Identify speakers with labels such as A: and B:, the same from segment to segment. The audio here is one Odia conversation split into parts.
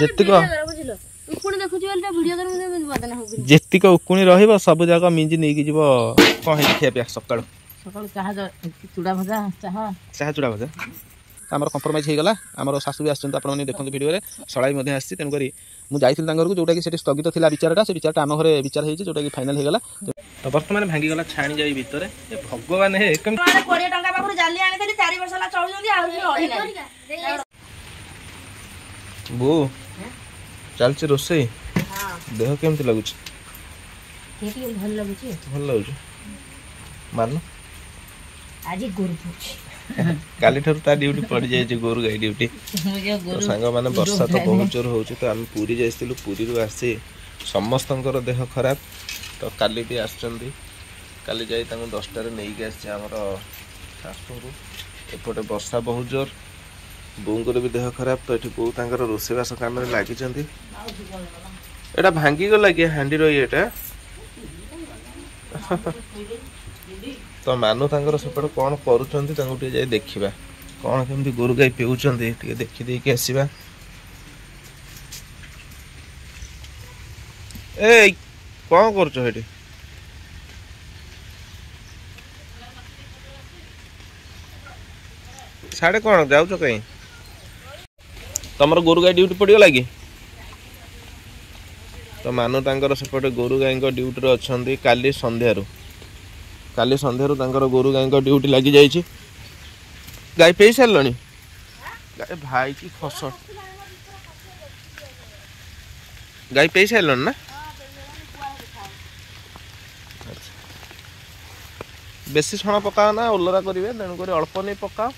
A: ଯେତିକ ଯେତିକ ଉକୁଣି ରହିବ ସବୁ ଯାକ ମିଞ୍ଜି ନେଇକି ଯିବ। କଣ ହେଇଛି ଖିଆ ପିଆ ସକାଳୁ?
B: ସକାଳୁ ଚାହା ଚୁଡ଼ା ଭଜା, ଚାହା
A: ଚାହା ଚୁଡ଼ା ଭଜା। ଆମର କମ୍ପ୍ରମାଇଜ୍ ହେଇଗଲା। ଆମର ଶାଶୁ ବି ଆସିଛନ୍ତି, ଆପଣମାନେ ଦେଖନ୍ତୁ ଭିଡ଼ିଓରେ, ଶଳା ବି ମଧ୍ୟ ଆସିଛି। ତେଣୁକରି ମୁଁ ଯାଇଥିଲି ତାଙ୍କ ଘରକୁ, ଯେଉଁଟାକି ସେଠି ସ୍ଥଗିତ ଥିଲା ବିଚାରଟା, ସେ ବିଚାରଟା ଆମ ଘରେ ବିଚାର ହେଇଛି, ଯେଉଁଟାକି ଫାଇନାଲ୍ ହେଇଗଲା। ତ ବର୍ତ୍ତମାନ ଭାଙ୍ଗିଗଲା ଛାଣି ଯାଇ ଭିତରେ। ଏ ଭଗବାନ ହେ,
C: କେମିତି 20 ଟଙ୍କା ପାଖରୁ ଜାଲି ଆଣିଥିଲି, 4 ବର୍ଷ ହେଲା ଚଳୁଛନ୍ତି, ଆହୁରି
A: ବୋଉ ଚାଲିଛି ରୋଷେଇ। ଦେହ କେମିତି ଲାଗୁଛି?
B: ଭଲ ଲାଗୁଛି,
A: ଭଲ ଲାଗୁଛି। ମାନୁ
B: ଆଜି ଗୋରୁ ପଡୁଛି,
A: କାଲିଠାରୁ ତା ଡ୍ୟୁଟି ପଡ଼ିଯାଇଛି, ଗୋରୁ ଗାଈ ଡ୍ୟୁଟି। ସାଙ୍ଗମାନେ, ବର୍ଷା ତ ବହୁତ ଜୋର ହେଉଛି। ତ ଆମେ ପୁରୀ ଯାଇଥିଲୁ, ପୁରୀରୁ ଆସି ସମସ୍ତଙ୍କର ଦେହ ଖରାପ। ତ କାଲି ବି ଆସିଛନ୍ତି, କାଲି ଯାଇ ତାଙ୍କୁ 10ଟାରେ ନେଇକି ଆସିଛି ଆମର ଶାଶୁଙ୍କୁ। ଏପଟେ ବର୍ଷା ବହୁତ ଜୋର, ବୋଉଙ୍କର ବି ଦେହ ଖରାପ। ତ ଏଠି ବୋଉ ତାଙ୍କର ରୋଷେଇବାସ କାମରେ ଲାଗିଛନ୍ତି। ଏଇଟା ଭାଙ୍ଗିଗଲା କି ହାଣ୍ଡିର ଇଏଟା? ତ ମାନୁ ତାଙ୍କର ସେପଟେ କ'ଣ କରୁଛନ୍ତି, ତାଙ୍କୁ ଟିକେ ଯାଇ ଦେଖିବା। କ'ଣ କେମିତି ଗୋରୁ ଗାଈ ପିଉଛନ୍ତି ଟିକେ ଦେଖିଦେଇକି ଆସିବା। ଏଇ କ'ଣ କରୁଛ ସେଠି? ସାଡ଼େ କ'ଣ ଯାଉଛ କାହିଁ? ତମର ଗୋରୁ ଗାଈ ଡ୍ୟୁଟି ପଡ଼ିଗଲା କି? ତ ମାନୁ ତାଙ୍କର ସେପଟେ ଗୋରୁ ଗାଈଙ୍କ ଡ୍ୟୁଟିରେ ଅଛନ୍ତି କାଲି ସନ୍ଧ୍ୟାରୁ। କାଲି ସନ୍ଧ୍ୟାରୁ ତାଙ୍କର ଗୋରୁ ଗାଈଙ୍କ ଡ୍ୟୁଟି ଲାଗିଯାଇଛି। ଗାଈ ପେଇ ସାରିଲଣି? ଭାଇ କି ଖସ, ଗାଈ ପେଇ ସାରିଲଣି ନା? ବେଶୀ ଛଣ ପକାଅ ନା, ଓଲରା କରିବେ, ତେଣୁକରି ଅଳ୍ପ ନେଇ ପକାଅ।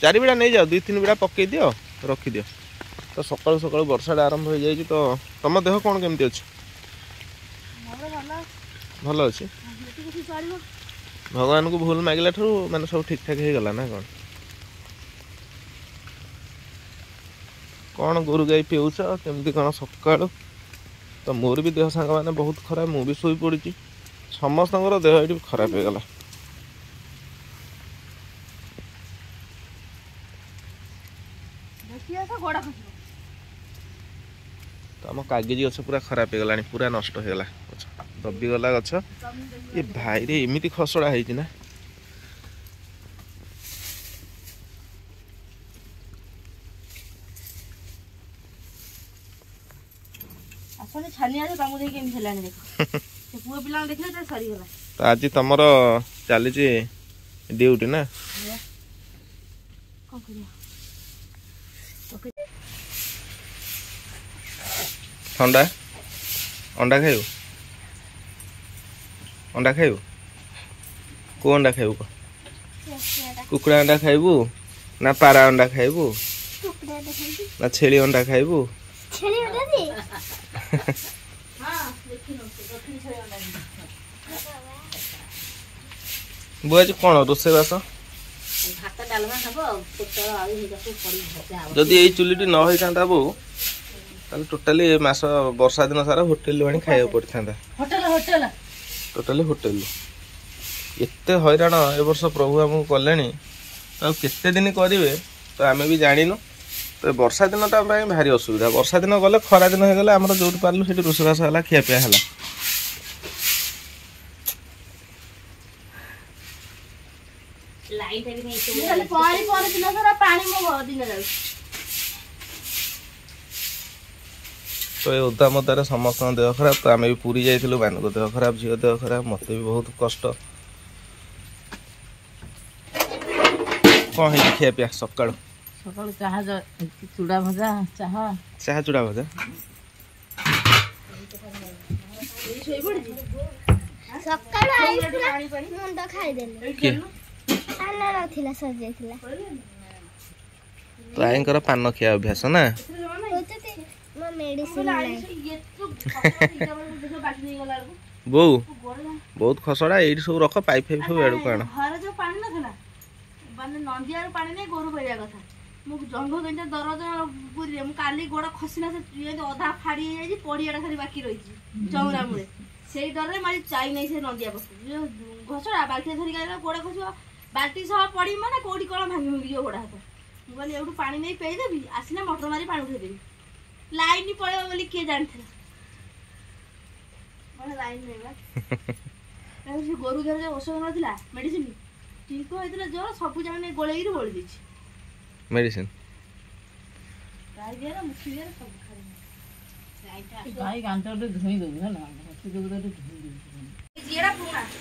A: 4 ବିଡ଼ା ନେଇଯାଅ, 2-3 ବିଡ଼ା ପକେଇ ଦିଅ, ରଖିଦିଅ। ତ ସକାଳୁ ସକାଳୁ ବର୍ଷାଟା ଆରମ୍ଭ ହେଇଯାଇଛି। ତ ତମ ଦେହ କ'ଣ କେମିତି ଅଛି? ଭଲ ଅଛି। ଭଗବାନଙ୍କୁ ଭୁଲ ମାଗିଲା ଠାରୁ ମାନେ ସବୁ ଠିକ୍ ଠାକ୍ ହେଇଗଲା ନା କ'ଣ? କ'ଣ ଗୋରୁ ଗାଈ ପିଉଛ କେମିତି କ'ଣ ସକାଳୁ? ତ ମୋର ବି ଦେହ ସାଙ୍ଗମାନେ ବହୁତ ଖରାପ, ମୁଁ ବି ଶୋଇପଡ଼ିଛି। ସମସ୍ତଙ୍କର ଦେହ ଏଇଠି ଖରାପ ହେଇଗଲା। ତ ଆମ କାଗିଜି ଗଛ ପୁରା ଖରାପ ହେଇଗଲାଣି, ପୁରା ନଷ୍ଟ ହେଇଗଲା ଗଛ, ଦବିଗଲା ଗଛ। ଏ ଭାଇରେ, ଏମିତି ଖସଡ଼ା ହେଇଛି ନା? ତ ଆଜି ତମର ଚାଲିଛି ଡ୍ୟୁଟି ନା? ଥଣ୍ଡା ଅଣ୍ଡା ଖାଇବୁ? ଅଣ୍ଡା ଖାଇବୁ? କୋଉ ଅଣ୍ଡା ଖାଇବୁ? କୁକୁଡ଼ା ଅଣ୍ଡା ଖାଇବୁ ନା ପାରା ଅଣ୍ଡା ଖାଇବୁ ନା ଛେଳି ଅଣ୍ଡା ଖାଇବୁ? ବୋଉ ଆଜି କ'ଣ ରୋଷେଇବାସ? ଯଦି ଏଇ ଚୁଲିଟି ନ ହେଇଥାନ୍ତା ବୋଉ, ତାହେଲେ ଟୋଟାଲି ମାସ ବର୍ଷା ଦିନ ସାରା ହୋଟେଲରୁ ଆଣି ଖାଇବାକୁ ପଡ଼ିଥାନ୍ତା। ଟୋଟାଲି ହୋଟେଲରୁ। ଏତେ ହଇରାଣ ଏ ବର୍ଷ ପ୍ରଭୁ ଆମକୁ କଲେଣି, ଆଉ କେତେ ଦିନ କରିବେ ତ ଆମେ ବି ଜାଣିନୁ। ତ ବର୍ଷା ଦିନଟା ପାଇଁ ଭାରି ଅସୁବିଧା। ବର୍ଷା ଦିନ ଗଲେ ଖରା ଦିନ ହେଇଗଲେ ଆମର ଯୋଉଠି ପାରିଲୁ ସେଠି ରୋଷେଇବାସ ହେଲା, ଖିଆପିଆ ହେଲା। ତ ଏ ଓଦା ମଦାରେ ସମସ୍ତଙ୍କ ଦେହ ଖରାପ। ତ ଆମେ ବି ପୁରୀ ଯାଇଥିଲୁ, ମାନଙ୍କ ଦେହ ଖରାପ, ଝିଅ ଦେହ ଖରାପ, ମୋତେ ବି ବହୁତ କଷ୍ଟ। କ'ଣ ହେଇଛି ଖିଆ ପିଆ ସକାଳୁ?
B: ସକାଳୁ ଚାହା ଚୁଡ଼ା ଭଜା, ଚାହା
A: ଚାହା ଚୁଡ଼ା ଭଜା।
D: ସକାଳୁ ମୁଣ୍ଡ ଖାଇଦେଲେ, ପାନ ନଥିଲା ସରିଯାଇଥିଲା।
A: ତ ଆଇଙ୍କର ପାନ ଖିଆ ଅଭ୍ୟାସ ନା? ବୋଉ ବହୁତ ଖସଡ଼ା, ଏଇଠି ସବୁ ରଖ, ପାଇପ୍ ଫାଇପ୍ ସବୁ ଏଆଡ଼କୁ ଆଣ।
C: ଘରେ ଯୋଉ ପାଣି ନଥିଲା, ମାନେ ନନ୍ଦିଆରୁ ପାଣି ନେଇ ଗୋରୁ ପାଇବା କଥା। ମୁଁ ଜଙ୍ଘ ଗେଞ୍ଜା ଦରଜ ପୁରୀରେ, ମୁଁ କାଲି ଗୋଡ଼ ଖସିଲା, ସେ ଅଧା ଫାଡ଼ି ହେଇଯାଇଛି, ପଡ଼ିଆଟା ଖାଲି ବାକି ରହିଛି ଚଉରା ମୂଳେ। ସେଇ ଡରରେ ମାରି ଚାଇ ନାହିଁ ସେ ନନ୍ଦିଆ ପାଖକୁ। ଘସଡ଼ା ବାଲ୍ଟିରେ ଧରିକି ଆଇଲା, ଗୋଡ଼ ଖସିବ, ବାଲ୍ଟି ସହ ପଡ଼ିବି, ମାନେ କୋଉଠି କ'ଣ ଭାଙ୍ଗି ଭାଙ୍ଗି ଯିବ ଗୋଡ଼ ହାତ। ମୁଁ କହିଲି ଏଇଠୁ ପାଣି ନେଇ ପେଇଦେବି, ଆସିଲେ ମଟର ମାରି ପାଣି ଉଠେଇଦେବି। ଲାଇନ ପଳେଇବ ବୋଲି କିଏ ଜାଣିଥିଲା? ଲାଇନ ନେଇବା ସେ ଗୋରୁ ଘରେ ଯୋଉ ଔଷଧ ନଥିଲା, ମେଡିସିନ ଟିଙ୍କ ହେଇଥିଲା ଜ୍ୱର, ସବୁ ଯାକ ନେଇ ଗୋଳେଇକିରି ବୋଳି ଦେଇଛି
A: ମେଡିସିନ।
C: ଗାଈ ଦିଆର ମୁଖି ଦିଆର ସବୁ ଖାଇ
B: ଗାଈ ଗାଣ୍ଟ ଧୋଇ ଦବୁ ହେଲା, ଧୋଇ ଦବୁ।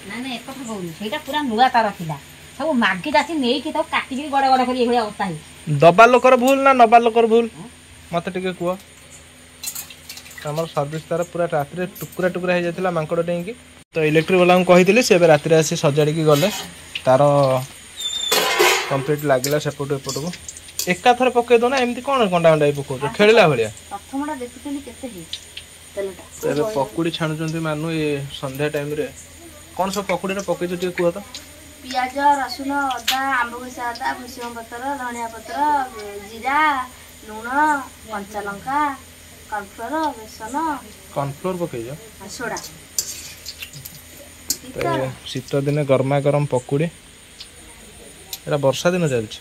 B: ନା ନା, ଏକଥା କହୁନି, ସେଇଟା ପୁରା ନୂଆ ତାର ଥିଲା, ସବୁ ମାଗି ଚାଷୀ ନେଇକି ତାକୁ କାଟିକିରି ଗଡ଼ ଗଡ଼ କରି ଏଇଭଳିଆ ଅବସ୍ଥା ହେଇଛି।
A: ଦବା ଲୋକର ଭୁଲ ନା ନବା ଲୋକର ଭୁଲ, ମତେ ଟିକେ କୁହ। ଆମର ସର୍ଭିସ ତାର ପୁରା ରାତିରେ ଟୁକୁରା ଟୁକୁରା ହେଇଯାଇଥିଲା ମାଙ୍କଡ଼ ଡେଇଁକି। ତ ଇଲେକ୍ଟ୍ରିକ୍ ବାଲାଙ୍କୁ କହିଥିଲି, ସେ ଏବେ ରାତିରେ ଆସି ସଜାଡ଼ିକି ଗଲେ। ତାର କମ୍ପ୍ଲିଟ୍ ଲାଗିଲା ସେପଟୁ ଏପଟକୁ। ଏକାଥରେ ପକେଇ ଦଉ ନା, ଏମିତି କ'ଣ ଗଣ୍ଡା ଗଣ୍ଡା ପକଉଛ ଖେଳିଲା ଭଳିଆ?
C: ପ୍ରଥମଟା ଦେଖୁଛନ୍ତି କେତେ ହେଇଛି ତେଲଟା।
A: ଏବେ ପକୁଡ଼ି ଛାଣୁଛନ୍ତି ମାନୁ ଏ ସନ୍ଧ୍ୟା ଟାଇମରେ। କ'ଣ ସବୁ ପକୁଡ଼ିରେ ପକେଇଛ ଟିକେ କୁହ ତ?
C: ପିଆଜ, ରସୁଣ, ଅଦା, ଆମ୍ବ କଷା ଅଦା, ଭୃଷଙ୍ଗ ପତ୍ର, ଧନିଆ ପତ୍ର, ଜିରା, ଲୁଣ, କଞ୍ଚା ଲଙ୍କା, କର୍ଣ୍ଣଫ୍ଲୋର, ବେସନ।
A: କର୍ଣ୍ଣଫ୍ଲୋର ପକେଇଛ?
C: ସୋଡ଼ା।
A: ଶୀତ ଦିନେ ଗରମା ଗରମ ପକୁଡ଼ି, ଏଇଟା ବର୍ଷା ଦିନ ଚାଲିଛି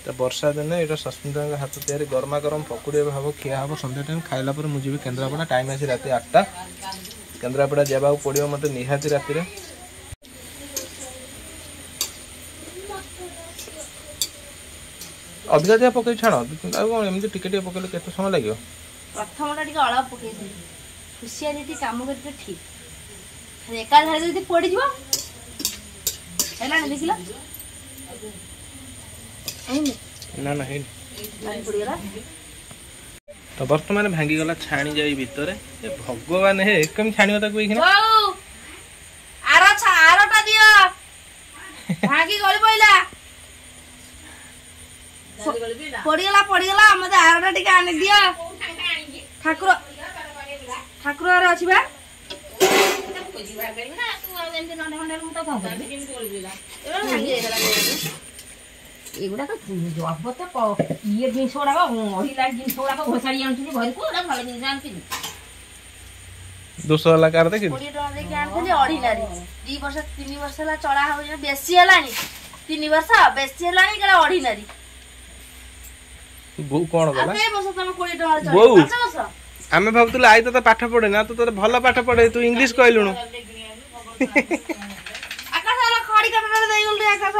A: ତ। ବର୍ଷା ଦିନେ ଏଇଟା ସସ୍ମିତାଙ୍କ ହାତ ତିଆରି ଗରମା ଗରମ ପକୁଡ଼ି ଏବେ ହବ, ଖିଆ ହବ ସନ୍ଧ୍ୟା ଟାଇମ୍। ଖାଇଲା ପରେ ମୁଁ ଯିବି କେନ୍ଦ୍ରାପଡ଼ା। ଟାଇମ୍ ଆସି ରାତି 8ଟା। କେନ୍ଦ୍ରାପଡ଼ା ଯିବାକୁ ପଡ଼ିବ ମୋତେ ନିହାତି ରାତିରେ। ଅଧିକା ଅଧିକା ପକେଇ ଛାଣ ଆଉ କ'ଣ, ଏମିତି ଟିକେ ଟିକେ ପକେଇଲେ କେତେ ସମୟ ଲାଗିବ?
C: ପ୍ରଥମଟା ଟିକେ ଅଳ୍ପ ପକେଇଥିଲି, ହୁସିଆରି ଟିକେ କାମ କରିବେ ଠିକ୍, ଏକାଧାରେ ଯଦି ପୋଡ଼ିଯିବ। ହେଲାଣି ଦେଖିଲ?
A: ନା ନା, ହେଇନି, ପୋଡ଼ିଗଲା। ତ ବର୍ତ୍ତମାନ ଭାଙ୍ଗିଗଲା ଛାଣି ଯାଇ ଭିତରେ। ଏ ଭଗବାନ ହେ, କେମିତି ଛାଣିବ ତାକୁ ଏଇଖିନା?
C: ଆର ଆରଟା ଦିଅ, ଭାଙ୍ଗି ଗଳି ପଇଲା, ପଡିଗଲା ପଡିଗଲା। ମତେ ଆରଟା ଟିକେ ଆଣି ଦିଅ। ଠାକୁର ଠାକୁର ଘରେ ଅଛି ବା।
B: ଏଗୁଡାକ ଜବତ ଇଏ ଜିନିଷ ଗୁଡାକ, ଅଢିଲା ଜିନିଷ ଗୁଡାକ ଘୋଷାଡି ଆଣୁଛନ୍ତି ଘରକୁ। ଏଗୁଡା ଭଲ ଜିନିଷ ଆଣୁଛନ୍ତି?
A: ଦୋଷ ହେଲା କାହାର ଦେଖିଲୁ?
C: 20 ଟଙ୍କା ଦେଇକି ଆଣିଥିଲି ଅଢିଲାରି, 2 ବର୍ଷ 3 ବର୍ଷ ହେଲା ଚଳା ହଉଛି, ବେଶୀ ହେଲାଣି, 3 ବର୍ଷ ବେଶୀ ହେଲାଣି, କାଳେ ଅଢିଲାରି।
A: ବୋଉ କଣ କଲା?
C: 20 ଟଙ୍କାରେ
A: ବୋଉ,
C: 5 ବର୍ଷ।
A: ଆମେ ଭାବୁଥିଲୁ I ତତେ ପାଠ ପଢେ ନା, ତୁ ତୋତେ ଭଲ ପାଠ ପଢେ, ତୁ ଇଂଲିଶ କହିଲୁଣୁ।
C: ଆକାଶ ହେଲା ଖଡି କାଟରେ ଦେଇଗଲୁ ରେ ଆକାଶ।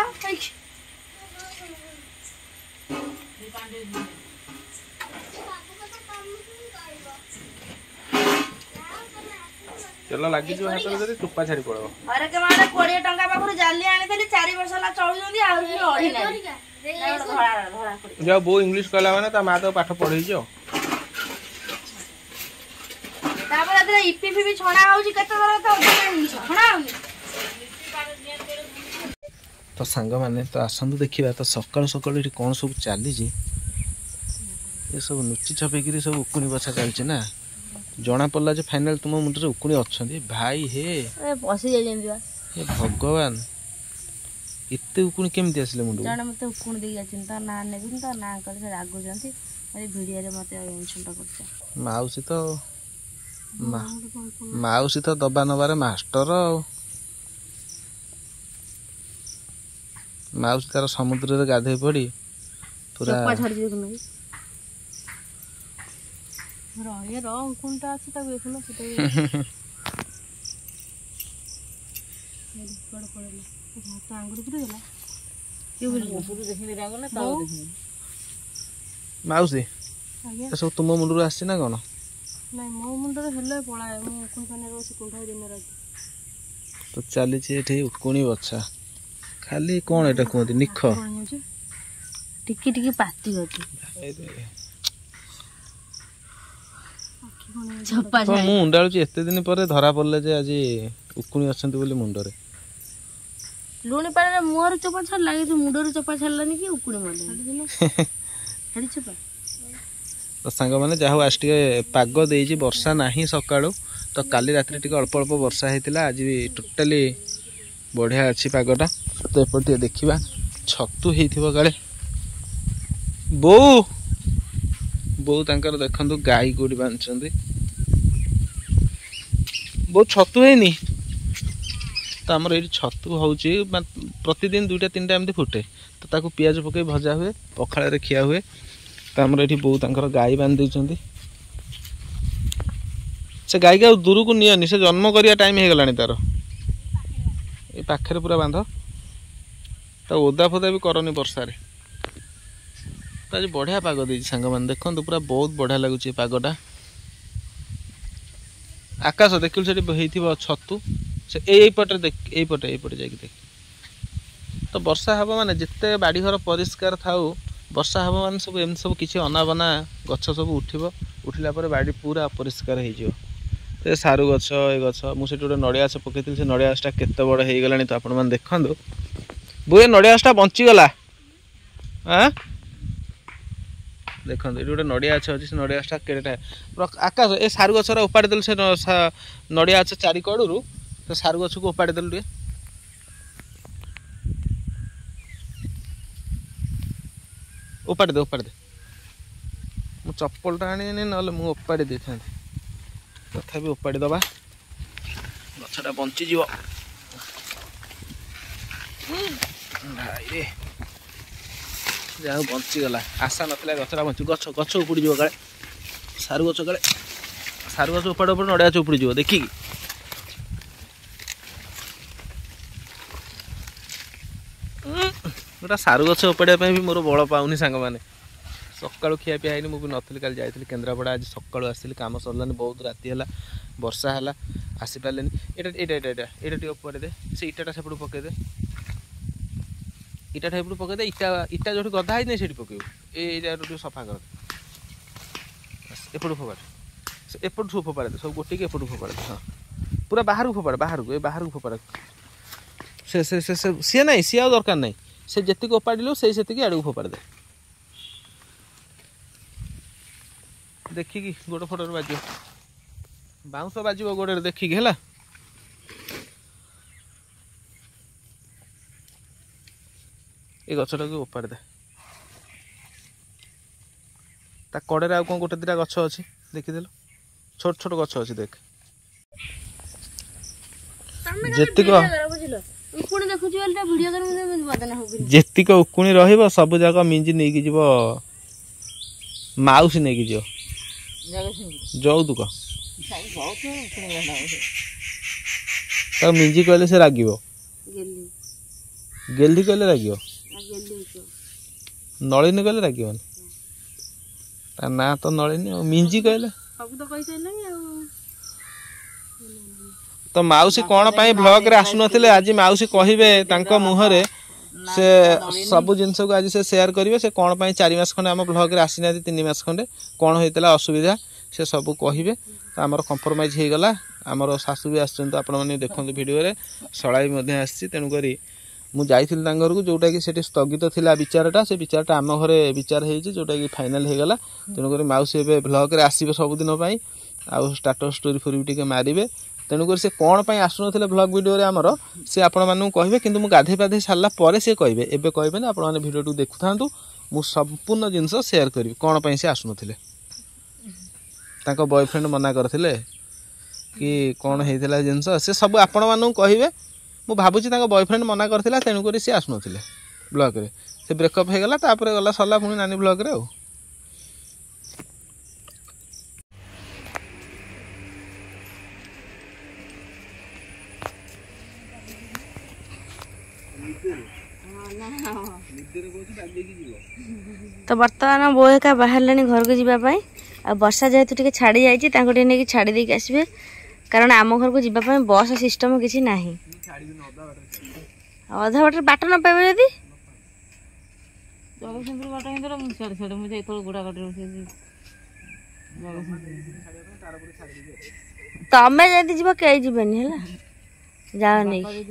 A: ତେଲ ଲାଗିଯିବ ହାତରେ ଯଦି, ଚୋପା ଛାଡି ପଳେଇବ।
C: ହରେକ ମାଡେ 20 ଟଙ୍କା ପାଖରୁ ଜାଲି ଆଣିଥିଲି, 4 ବର୍ଷ ହେଲା ଚଳୁଛନ୍ତି, ଆହୁରି ବି ଅଢିଲାରି। ଧଳା ଧଳା।
A: ଯାଉ, ବୋଉ ଇଂଲିଶ କହିଲା ମାନେ ତା ମା ତାକୁ ପାଠ ପଢେଇଛି। ଆଉ
C: ତାପରେ ଏଥିରେ ଇପି ଫିପି ଛଣା ହଉଛି, କେତେ ଥର ତ ଅଧିକା ଜିନିଷ ଛଣା ହଉନି।
A: ତ ସାଙ୍ଗମାନେ, ତ ଆସନ୍ତୁ ଦେଖିବା ତ ସକାଳୁ ସକାଳୁ ଏଠି କ'ଣ ସବୁ ଚାଲିଛି। ଏସବୁ ଲୁଚି ଛପେଇକିରି ସବୁ ଉକୁଣି ବଛା ଚାଲିଛି ନା? ଜଣା ପଡ଼ିଲା ଯେ ଫାଇନାଲ ତୁମ ମୁଣ୍ଡରେ ଉକୁଣି ଅଛନ୍ତି ଭାଇ ହେ।
C: ପଶି ଯାଇଛନ୍ତି ବା।
A: ହେ ଭଗବାନ, ଏତେ ଉକୁଣି କେମିତି ଆସିଲେ ମୁଣ୍ଡକୁ?
C: ଜଣେ ମତେ ଉକୁଣି ଦେଇକି ଯାଇଛନ୍ତି, ତା ନାଁ ନେବିନି, ତା ନାଁ କଲେ ସେ ରାଗୁଛନ୍ତି। ଭିଡ଼ିଓରେ ମତେ ଇନସଲ୍ଟ କରୁଛ।
A: ମାଉସୀ ତ, ମାଉସୀ ତ ଦବା ନବାରେ ମାଷ୍ଟର। ଆଉ ମାଉସୀ ତାର ସମୁଦ୍ରରେ ଗାଧେଇ ପଡି ପୁରା
C: ଚୋପା ଛାଡିଛି ଦେଖୁନ। ର ଉକୁଣିଟା ଅଛି, ତାକୁ ଦେଖୁନ। ସେଟା କୁଆଡେ ପଳେଇଲା? ହାତ ଆଙ୍ଗୁଠି ପୁରେଇଦେଲା।
A: ମାଉସୀ, ଏସବୁ ତୁମ ମୁଣ୍ଡରୁ ଆସିଛି ନା କ'ଣ?
C: ନାଇଁ, ମୋ ମୁଣ୍ଡରେ ହେଲେ ପଳାଏ। ମୁଁ ଉକୁଣି ପାଣିରେ ବସି କୁଣ୍ଢାଏ ଦିନ ରାତି।
A: ତ ଚାଲିଛି ଏଠି ଉକୁଣି ବଛା। ଖାଲି କ'ଣ ଏଇଟା କୁହନ୍ତି, ନିଖ।
C: ଟିକେ ଟିକେ ପାତି ଅଛି। ଚୋପା।
A: ମୁଁ ଉଣ୍ଡାଳୁଛି, ଏତେ ଦିନ ପରେ ଧରା ପଡ଼ିଲେ ଯେ ଆଜି ଉକୁଣି ଅଛନ୍ତି ବୋଲି ମୁଣ୍ଡରେ।
C: ଲୁଣି ପାଣିରେ ମୁହଁରୁ ଚୋପା ଛାଡ଼ିଲା, କିନ୍ତୁ ମୁଣ୍ଡରୁ ଚୋପା ଛାଡ଼ିଲାନି କି ଉକୁଣି ମରିଲାନି। ଛାଡ଼ି ଚୋପା।
A: ତ ସାଙ୍ଗମାନେ, ଯାହା ହଉ ଆଜି ଟିକେ ପାଗ ଦେଇଛି, ବର୍ଷା ନାହିଁ ସକାଳୁ। ତ କାଲି ରାତିରେ ଟିକେ ଅଳ୍ପ ଅଳ୍ପ ବର୍ଷା ହେଇଥିଲା, ଆଜି ବି ଟୋଟାଲି ବଢ଼ିଆ ଅଛି ପାଗଟା। ତ ଏପଟେ ଟିକେ ଦେଖିବା, ଛତୁ ହେଇଥିବ କାଳେ। ବୋଉ, ବୋଉ ତାଙ୍କର ଦେଖନ୍ତୁ ଗାଈ କୋଉଠି ବାନ୍ଧିଛନ୍ତି। ବୋଉ, ଛତୁ ହେଇନି? ତ ଆମର ଏଇଠି ଛତୁ ହେଉଛି, ପ୍ରତିଦିନ 2ଟା 3ଟା ଏମିତି ଫୁଟେ। ତ ତାକୁ ପିଆଜ ପକାଇ ଭଜା ହୁଏ, ପଖାଳରେ ଖିଆ ହୁଏ। ତ ଆମର ଏଇଠି ବୋଉ ତାଙ୍କର ଗାଈ ବାନ୍ଧି ଦେଇଛନ୍ତି। ସେ ଗାଈକି ଆଉ ଦୂରକୁ ନିଅନି, ସେ ଜନ୍ମ କରିବା ଟାଇମ୍ ହେଇଗଲାଣି ତାର। ଏ ପାଖରେ ପୁରା ବାନ୍ଧ, ତା ଓଦା ଫୋଦା ବି କରନି ବର୍ଷାରେ। ତ ଆଜି ବଢ଼ିଆ ପାଗ ଦେଇଛି ସାଙ୍ଗମାନେ, ଦେଖନ୍ତୁ ପୁରା ବହୁତ ବଢ଼ିଆ ଲାଗୁଛି ଏ ପାଗଟା। ଆକାଶ ଦେଖିଲୁ ସେଠି ହେଇଥିବ ଛତୁ, ସେ ଏଇପଟରେ ଦେଖ, ଏଇପଟେ ଏଇପଟେ ଯାଇକି ଦେଖ। ତ ବର୍ଷା ହେବ ମାନେ ଯେତେ ବାଡ଼ିଘର ପରିଷ୍କାର ଥାଉ, ବର୍ଷା ହେବ ମାନେ ସବୁ ଏମିତି ସବୁ କିଛି ଅନାବନା ଗଛ ସବୁ ଉଠିବ। ଉଠିଲା ପରେ ବାଡ଼ି ପୁରା ଅପରିଷ୍କାର ହେଇଯିବ। ସେ ସାରୁ ଗଛ, ଏ ଗଛ, ମୁଁ ସେଠି ଗୋଟେ ନଡ଼ିଆ ଗଛ ପକେଇଥିଲି, ସେ ନଡ଼ିଆ ଗଛଟା କେତେ ବଡ଼ ହେଇଗଲାଣି। ତ ଆପଣମାନେ ଦେଖନ୍ତୁ, ବୋଉ ଏ ନଡ଼ିଆ ଗଛଟା ବଞ୍ଚିଗଲା। ଆଁ ଦେଖନ୍ତୁ ଏଠି ଗୋଟେ ନଡ଼ିଆ ଗଛ ଅଛି, ସେ ନଡ଼ିଆ ଗଛଟା କେଡ଼େଟା। ଆକାଶ ଏ ସାରୁ ଗଛର ଉପାଡ଼ି ଦେଲୁ, ସେ ନଡ଼ିଆ ଗଛ ଚାରି କଡ଼ରୁ ସେ ସାରୁ ଗଛକୁ ଉପାଡ଼ି ଦେଲୁ ଟିକେ। ଉପାଡ଼ି ଦେ, ଉପାଡ଼ି ଦେ। ମୁଁ ଚପଲଟା ଆଣିନି, ନହେଲେ ମୁଁ ଉପାଡ଼ି ଦେଇଥାନ୍ତି। ତଥାପି ଉପାଡ଼ି ଦେବା, ଗଛଟା ବଞ୍ଚିଯିବ। ଭାଇରେ ଯାହା ହଉ ବଞ୍ଚିଗଲା, ଆଶା ନଥିଲା ଗଛଟା ବଞ୍ଚି। ଗଛ ଗଛ ଉପୁଡ଼ିଯିବ କାଳେ, ସାରୁ ଗଛ କାଳେ, ସାରୁ ଗଛ ଉପାଡ଼ ଉପରେ ନଡ଼ିଆ ଗଛ ଉପୁଡ଼ିଯିବ ଦେଖିକି। ଗୋଟେ ସାରୁ ଗଛ ଉପାଡ଼ିବା ପାଇଁ ବି ମୋର ବଳ ପାଉନି ସାଙ୍ଗମାନେ। ସକାଳୁ ଖିଆ ପିଆ ହେଇନି, ମୁଁ ବି ନଥିଲି, କାଲି ଯାଇଥିଲି କେନ୍ଦ୍ରାପଡ଼ା, ଆଜି ସକାଳୁ ଆସିଲି, କାମ ସରିଲାନି, ବହୁତ ରାତି ହେଲା, ବର୍ଷା ହେଲା, ଆସିପାରିଲେନି। ଏଇଟା ଏଇଟା ଏଇଟା ଏଇଟା ଏଇଟା ଟିକେ ଉପାଡ଼ି ଦେ, ସେ ଇଟାଟା ସେପଟକୁ ପକେଇଦେ, ଇଟାଟା ଏପଟୁ ପକେଇଦେ। ଇଟା ଇଟା ଯେଉଁଠି ଗଦା ହେଇନି ସେଇଠି ପକେଇବୁ। ଏଇ ଜାଗାରୁ ଟିକେ ସଫା କର, ଏପଟୁ ଫୋପାଡ଼େ, ସେ ଏପଟୁ ସବୁ ଫୋପାଡ଼େ ଦେ, ସବୁ ଗୋଟେକି ଏପଟୁ ଫୋପାଡ଼େ ଦେ। ହଁ ପୁରା ବାହାରକୁ ଫୋପାଡ଼େ, ବାହାରକୁ, ଏ ବାହାରକୁ ଫୋପାଡ଼େ। ସେ ସେ ସେ ସିଏ ନାହିଁ, ସିଏ ଆଉ ଦରକାର ନାହିଁ। ସେ ଯେତିକି ଓପାଡ଼ିଲୁ ସେଇ ସେତିକି ଆଡ଼କୁ ଫୋପାଡ଼ି ଦେ, ଦେଖିକି ଗୋଡ଼ ଫୋଡ଼ରେ ବାଜିବ, ବାଉଁଶ ବାଜିବ ଗୋଡ଼ରେ ଦେଖିକି ହେଲା। ଏ ଗଛଟାକୁ ଓପାଡ଼ି ଦେ। ତା କଡ଼ରେ ଆଉ କ'ଣ ଗୋଟେ 2ଟା ଗଛ ଅଛି ଦେଖିଦେଲୁ, ଛୋଟ ଛୋଟ ଗଛ ଅଛି ଦେଖ। ଯେତିକ ଯେତିକ ଉକୁଣି ରହିବ ସବୁ ଯାକ ମିଞ୍ଜି ନେଇକି ଯିବ, ମାଉସୀ ନେଇକି ଯିବ ଯୌତୁକ। ତାକୁ ମିଞ୍ଜି କହିଲେ ସେ ରାଗିବ, ଗେଲି କହିଲେ ରାଗିବ, ନଳିନୀ କହିଲେ ରାଗିବନି। ତା ନାଁ ତ ନଳିନୀ, ଆଉ ମିଞ୍ଜି କହିଲେ। ତ ମାଉସୀ କ'ଣ ପାଇଁ ବ୍ଲଗରେ ଆସୁନଥିଲେ ଆଜି ମାଉସୀ କହିବେ ତାଙ୍କ ମୁହଁରେ, ସେ ସବୁ ଜିନିଷକୁ ଆଜି ସେ ସେୟାର କରିବେ। ସେ କ'ଣ ପାଇଁ 4 ମାସ ଖଣ୍ଡେ ଆମ ବ୍ଲଗରେ ଆସିନାହାନ୍ତି, 3 ମାସ ଖଣ୍ଡେ କ'ଣ ହେଇଥିଲା ଅସୁବିଧା ସେ ସବୁ କହିବେ। ତ ଆମର କମ୍ପ୍ରମାଇଜ୍ ହେଇଗଲା, ଆମର ଶାଶୁ ବି ଆସିଛନ୍ତି, ଆପଣମାନେ ଦେଖନ୍ତୁ ଭିଡ଼ିଓରେ, ଶଳା ବି ମଧ୍ୟ ଆସିଛି। ତେଣୁକରି ମୁଁ ଯାଇଥିଲି ତାଙ୍କ ଘରକୁ, ଯେଉଁଟାକି ସେଠି ସ୍ଥଗିତ ଥିଲା ବିଚାରଟା, ସେ ବିଚାରଟା ଆମ ଘରେ ବିଚାର ହେଇଛି, ଯେଉଁଟାକି ଫାଇନାଲ୍ ହେଇଗଲା। ତେଣୁକରି ମାଉସୀ ଏବେ ବ୍ଲଗରେ ଆସିବେ ସବୁଦିନ ପାଇଁ, ଆଉ ଷ୍ଟାଟସ୍ ଷ୍ଟୋରି ଫୋରି ବି ଟିକେ ମାରିବେ। ତେଣୁକରି ସେ କ'ଣ ପାଇଁ ଆସୁନଥିଲେ ବ୍ଲଗ୍ ଭିଡ଼ିଓରେ ଆମର, ସେ ଆପଣମାନଙ୍କୁ କହିବେ। କିନ୍ତୁ ମୁଁ ଗାଧେଇ ପାଧେଇ ସାରିଲା ପରେ ସେ କହିବେ, ଏବେ କହିବେନି। ଆପଣମାନେ ଭିଡ଼ିଓଟିକୁ ଦେଖୁଥାନ୍ତୁ, ମୁଁ ସମ୍ପୂର୍ଣ୍ଣ ଜିନିଷ ସେୟାର କରିବି କ'ଣ ପାଇଁ ସେ ଆସୁନଥିଲେ, ତାଙ୍କ ବୟଫ୍ରେଣ୍ଡ ମନା କରିଥିଲେ କି କ'ଣ ହେଇଥିଲା ଜିନିଷ, ସେ ସବୁ ଆପଣମାନଙ୍କୁ କହିବେ। ମୁଁ ଭାବୁଛି ତାଙ୍କ ବୟଫ୍ରେଣ୍ଡ ମନା କରିଥିଲା, ତେଣୁକରି ସେ ଆସୁନଥିଲେ ବ୍ଲଗ୍ରେ। ସେ ବ୍ରେକଅପ୍ ହେଇଗଲା, ତାପରେ ଗଲା ସରିଲା ପୁଣି ନାନୀ ବ୍ଲଗ୍ରେ। ଆଉ
C: ତ ବର୍ତ୍ତମାନ ବୋଉ ଏକା ବାହାରିଲେଣି ଘରକୁ ଯିବା ପାଇଁ। ଆଉ ବର୍ଷା ଯେହେତୁ ଟିକେ ଛାଡ଼ି ଯାଇଛି, ତାଙ୍କୁ ଟିକେ ନେଇକି ଛାଡ଼ି ଦେଇକି ଆସିବେ, କାରଣ ଆମ ଘରକୁ ଯିବା ପାଇଁ ବସ୍ ସିଷ୍ଟମ୍ କିଛି ନାହିଁ। ଅଧା ବାଟରେ ବାଟ ନ ପାଇବେ ଯଦି ତମେ ଯଦି ଯିବ କେହି ଯିବେନି, ହେଲା ଯାଅ ନେଇକି।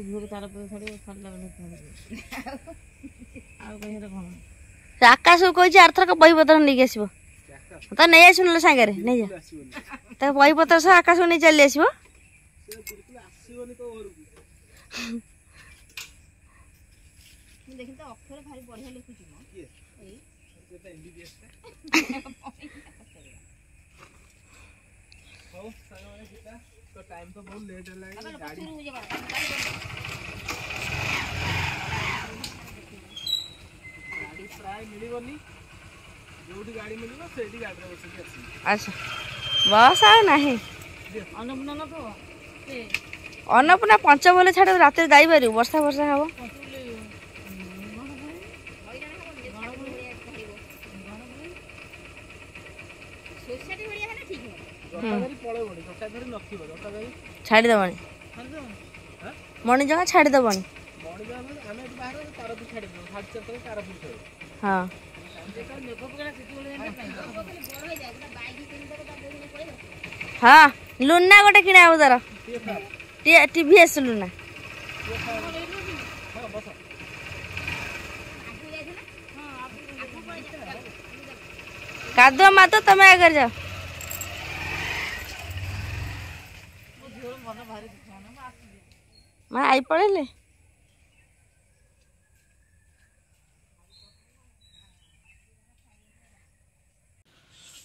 C: ଆକାଶକୁ କହିଛି ଆରଥରକ ବହିପତ୍ର ନେଇକି ଆସିବ, ତ ନେଇ ଆସିବ ନହେଲେ ସାଙ୍ଗରେ ନେଇଯା। ତା ବହିପତ୍ର ସହ ଆକାଶକୁ ନେଇ ଚାଲି ଆସିବ।
A: ତ ଟାଇମ୍ ତ ବହୁତ ଲେଟ୍ ହେଲାଣି। ଗାଡ଼ି ଗାଡ଼ି ପ୍ରାୟ ମିଳିବନି, ଯୋଉଠି ଗାଡ଼ି ମିଳିବ ସେଇଠି ଗାଡ଼ିରେ ବସିକି ଆସିବି।
C: ଆଚ୍ଛା, ବସ୍ ଆଉ ନାହିଁ। ଅନ୍ନପୂର୍ଣ୍ଣା ପଞ୍ଚବୋଲ ଛାଡ଼, ରାତିରେ ଯାଇପାରିବୁ? ବର୍ଷା ବର୍ଷା ହବ। ଛାଡ଼ିଦବନି ମଣିଜଙ୍ଗା, ଛାଡ଼ିଦବନି। ହଁ ହଁ, ଲୁନା ଗୋଟେ କିଣା ହବ ତାର, ଟିଭିଏସ୍ ଲୁନା। କାଦୁଅ ମାତ, ତମେ ଆଗରେ ଯାଅ। ମା I ପଳେଇଲେ।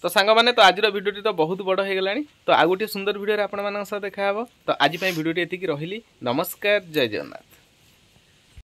A: ତ ସାଙ୍ଗମାନେ, ତ ଆଜିର ଭିଡ଼ିଓଟି ତ ବହୁତ ବଡ଼ ହେଇଗଲାଣି। ତ ଆଉ ଗୋଟିଏ ସୁନ୍ଦର ଭିଡ଼ିଓରେ ଆପଣମାନଙ୍କ ସହ ଦେଖାହେବ। ତ ଆଜି ପାଇଁ ଭିଡ଼ିଓଟି ଏତିକି ରହିଲି। ନମସ୍କାର, ଜୟ ଜଗନ୍ନାଥ।